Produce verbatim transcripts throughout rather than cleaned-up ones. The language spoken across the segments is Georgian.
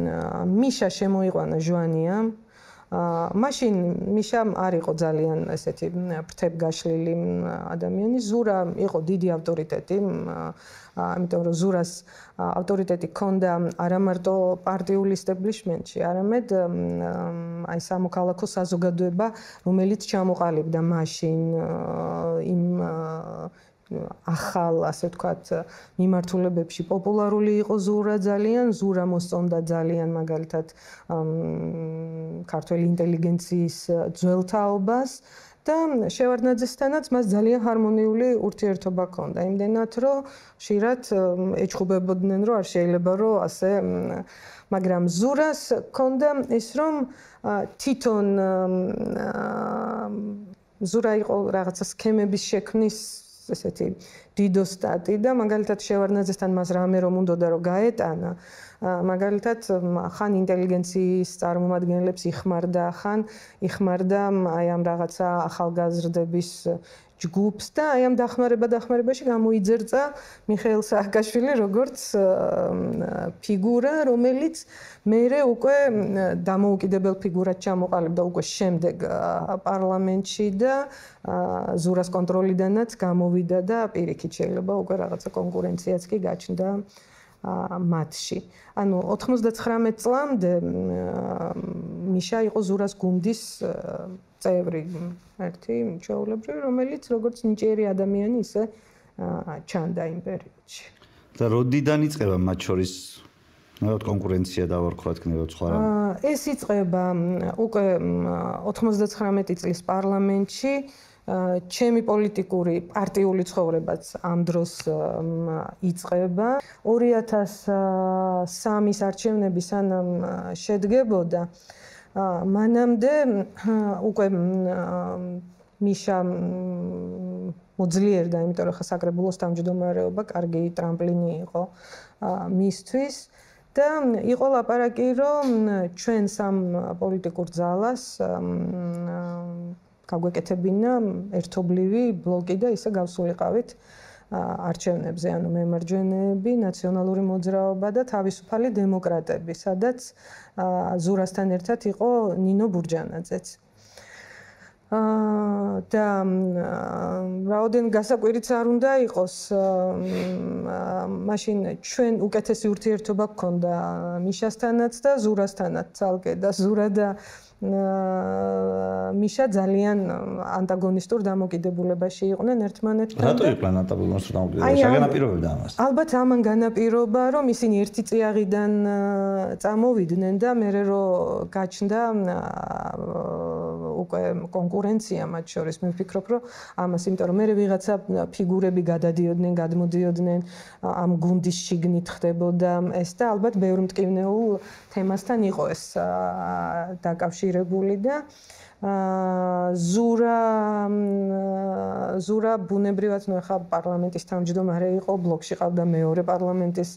მიშა შემოიყვანა ჟვანიამ. მაშინ მიშამ არ იყო ძალიან ესეთი ფრთებგაშლილი ადამიანი. ზურა იყო დიდი ავტორიტეტი, ამიტომ რომ ზურას ავტორიტეტი ჰქონდა არა მარტო პარტიულ ისტაბლიშმენტში, არამედ აი სამოქალაქო საზოგადოება, რომელიც ჩამოყალიბდა მაშინ იმ ახალ, ასე ვთქვათ, მიმართულებებში პოპულარული იყო ზურა ძალიან, ზურა მოსწონდა ძალიან მაგალითად ქართველი ინტელიგენციის ძველთაობას და შევარდნაძესთანაც მას ძალიან ჰარმონიული ურთიერთობა ჰქონდა. იმდენად, რომ ხშირად ეჩხუბებოდნენ, რომ არ შეიძლება რომ ასე, მაგრამ ზურას ჰქონდა ის, რომ თვითონ ზურა იყო რაღაცა სქემების შექმნის ესეთი დიდოსტატი და მაგალითად შევარდნაძესთან მას რამე რომ უნდოდა რომ გაეტანა, მაგალითად ხან ინტელიგენციის წარმომადგენლებს იხმარდა, ხან იხმარდა აი ამ რაღაცა ახალგაზრდების ჯგუფს და აი ამ დახმარება დახმარებაში გამოიძერწა მიხეილ სააკაშვილი როგორც ფიგურა, რომელიც მერე უკვე დამოუკიდებელ ფიგურად ჩამოყალიბდა უკვე შემდეგ პარლამენტში და ზურას კონტროლიდანაც გამოვიდა და პირიქით შეიძლება უკვე რაღაცა კონკურენციაც კი გაჩნდა მათში. ანუ ოთხმოცდაცხრამეტ წლამდე მიშა იყო ზურას გუნდის წევრი, ერთი ჩვეულებრივი, რომელიც როგორც ნიჭიერი ადამიანი ისე ჩანდა იმ პერიოდში. და როდიდან იწყება მათ შორის ნუ კონკურენცია დავარქვათ ქნებოდ სხვა რამე? ეს იწყება უკვე ოთხმოცდაცხრამეტი წლის პარლამენტში. ჩემი პოლიტიკური პარტიული ცხოვრებაც ამ დროს იწყება. ორი ათას სამის არჩევნები სანამ შედგებოდა, მანამდე უკვე მიშა მოძლიერდა, იმიტომ რომ საკრებულოს თავმჯდომარეობა კარგი ტრამპლინი იყო მისთვის და იყო ლაპარაკი, რომ ჩვენ სამ პოლიტიკურ ძალას გაგვეკეთებინა ერთობლივი ბლოკი და ისე გავსულიყავით არჩევნებზე, ანუ მემარჯვენეები, ნაციონალური მოძრაობა და თავისუფალი დემოკრატები, სადაც ზურასთან ერთად იყო ნინო ბურჯანაძეც. და რაოდენ გასაკვირიც არ უნდა იყოს, მაშინ ჩვენ უკეთესი ურთიერთობა გქონდა მიშასთანაც და ზურასთანაც ცალკე და ზურა და მიშა ძალიან ანტაგონისტურ დამოკიდებულებაში იყვნენ ერთმანეთთან. რატო იყვნენ ანტაგონისტურ დამოკიდებულებაში? განაპირობებდა ამას? ალბათ ამან განაპირობა, რომ ისინი ერთი წიაღიდან წამოვიდნენ და მერე რომ გაჩნდა უკვე კონკურენცია მათ შორის, მე ვფიქრობ, რომ ამას, იმიტომ რომ მერე ვიღაცა ფიგურები გადადიოდნენ, გადმოდიოდნენ, ამ გუნდის შიგნით ხდებოდა ეს და ალბათ ბევრ მტკივნეულ თემასთან იყო ეს დაკავშირებული და ზურა ზურა ბუნებრივად ნუ ახლა პარლამენტის თავმჯდომარე იყო, ბლოკში ყავდა მეორე პარლამენტის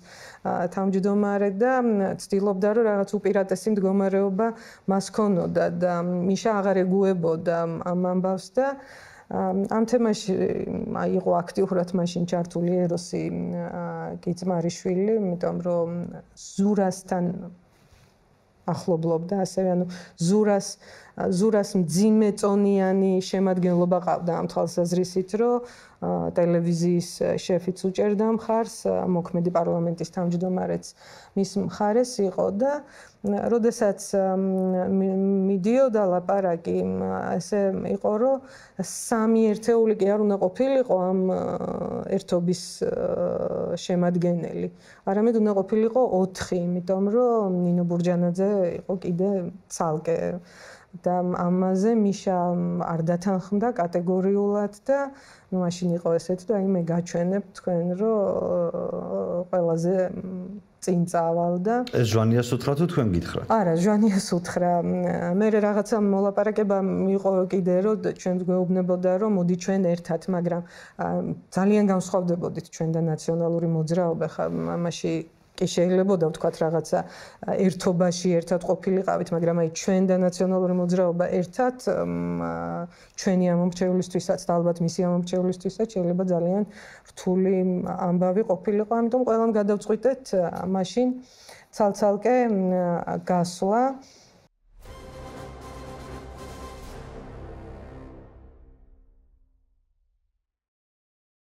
თავმჯდომარე და ცდილობდა რომ რაღაც უპირატესი მდგომარეობა მას ჰქონოდა და მიშა აღარ ეგუებოდა ამ ამბავს და ამ თემაში აი იყო აქტიურად მაშინ ჩართული ეროსი კიცმარიშვილი, იმიტომ რომ ზურასთან ახლობლობდა, ასევე ანუ ზურას ზურას მძიმე წონიანი შემადგენლობა ყავდა ამ თვალსაზრისით, რომ ტელევიზიის შეფიც უჭერდა მხარს, მოქმედი პარლამენტის თავმჯდომარეც მის მხარეს იყო და როდესაც მიდიოდა ლაპარაკი, ესე იყო, რომ სამი ერთეული კი არ უნდა ყოფილიყო ამ ერთობის შემადგენელი, არამედ უნდა ყოფილიყო ოთხი, იმიტომ რომ ნინო ბურჯანაძე იყო კიდე ცალკე და ამაზე მიშა არ დათანხმდა კატეგორიულად და ну მაშინ იყო ესეთ და აი მე გაჩვენებ თქვენ რომ ყველაზე წინ წავალდა. ეს ჟვანიას უთხრა თუ თქვენ გითხრათ? არა, ჟვანიას უთხრა. მე რაღაცა მოლაპარაკება მიიღო კიდე რომ ჩვენ გვეუბნებოდა რომ მოდი ჩვენ ერთად, მაგრამ ძალიან განსხვავდებოდით ჩვენ და ნაციონალური მოძრაობა ხა მამაში კი შეიძლება ვთქვათ რაღაცა ერთობაში ერთად ყოფილიყავით, მაგრამ აი ჩვენ და ნაციონალური მოძრაობა ერთად ჩვენი ამომრჩევლისთვისაც და ალბათ მისი ამომრჩევლისთვისაც შეიძლება ძალიან რთული ამბავი ყოფილიყო, ამიტომ ყველამ გადავწყვიტეთ მაშინ ცალ-ცალკე გასვლა